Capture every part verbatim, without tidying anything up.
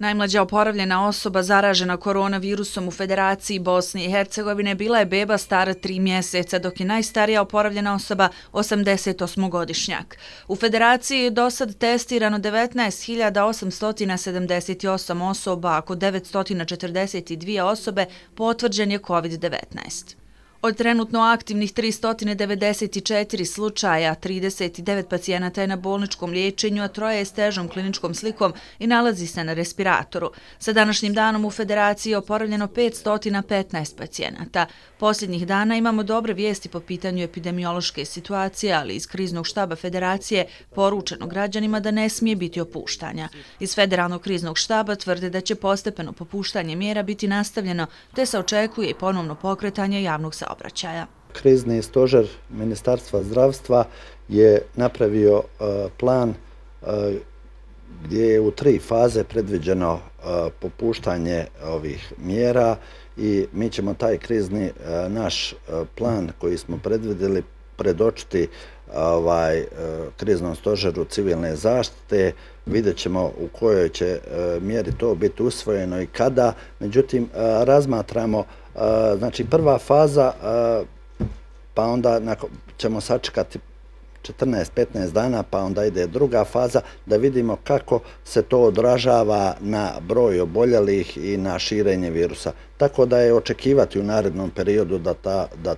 Najmlađa oporavljena osoba zaražena koronavirusom u Federaciji Bosne i Hercegovine bila je beba stara tri mjeseca, dok je najstarija oporavljena osoba osamdesetosmogodišnjak. U Federaciji je do sad testirano devetnaest hiljada osamsto sedamdeset osam osoba, a kod devetsto četrdeset dvije osobe potvrđen je kovid devetnaest. Od trenutno aktivnih tristo devedeset četiri slučaja, trideset devet pacijenata je na bolničkom liječenju, a troje je s težom kliničkom slikom i nalazi se na respiratoru. Sa današnjim danom u Federaciji je oporavljeno petsto petnaest pacijenata. Posljednjih dana imamo dobre vijesti po pitanju epidemiološke situacije, ali iz kriznog štaba Federacije poručeno građanima da ne smije biti opuštanja. Iz Federalnog kriznog štaba tvrde da će postepeno popuštanje mjera biti nastavljeno, te se očekuje i ponovno pokretanje javnog saobraćaja. Krizni stožer Ministarstva zdravstva je napravio plan gdje je u tri faze predviđeno popuštanje ovih mjera i mi ćemo taj krizni naš plan koji smo predvidjeli predočiti ovaj, kriznom stožeru civilne zaštite. Vidjet ćemo u kojoj će mjeri to biti usvojeno i kada. Međutim, razmatramo, znači prva faza, pa onda ćemo sačekati četrnaest petnaest dana, pa onda ide druga faza, da vidimo kako se to odražava na broj oboljelih i na širenje virusa. Tako da je očekivati u narednom periodu da, ta, da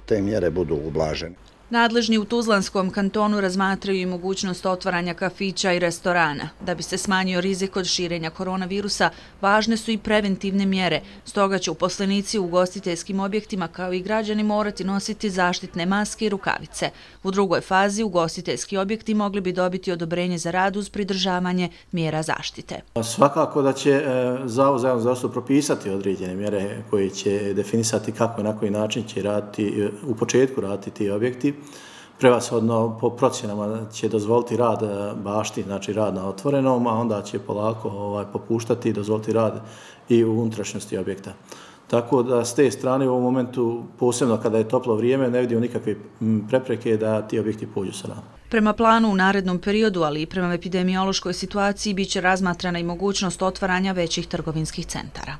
te mjere budu ublažene. Nadležni u Tuzlanskom kantonu razmatraju i mogućnost otvaranja kafića i restorana. Da bi se smanjio rizik od širenja koronavirusa, važne su i preventivne mjere. Stoga će uposlenici u ugostiteljskim objektima kao i građani morati nositi zaštitne maske i rukavice. U drugoj fazi ugostiteljski objekti mogli bi dobiti odobrenje za rad uz pridržavanje mjera zaštite. Svakako da će Zavod za javno zdravstvo propisati određene mjere koje će definisati kako i na koji način će raditi, u početku raditi ti objekti. Prevashodno po procjenama će dozvoliti rad bašti, znači rad na otvorenom, a onda će polako ovaj, popuštati i dozvoliti rad i u unutrašnjosti objekta. Tako da s te strane u ovom momentu, posebno kada je toplo vrijeme, ne vidimo nikakve prepreke da ti objekti pođu sa nama. Prema planu u narednom periodu, ali i prema epidemiološkoj situaciji, biće razmatrana i mogućnost otvaranja većih trgovinskih centara.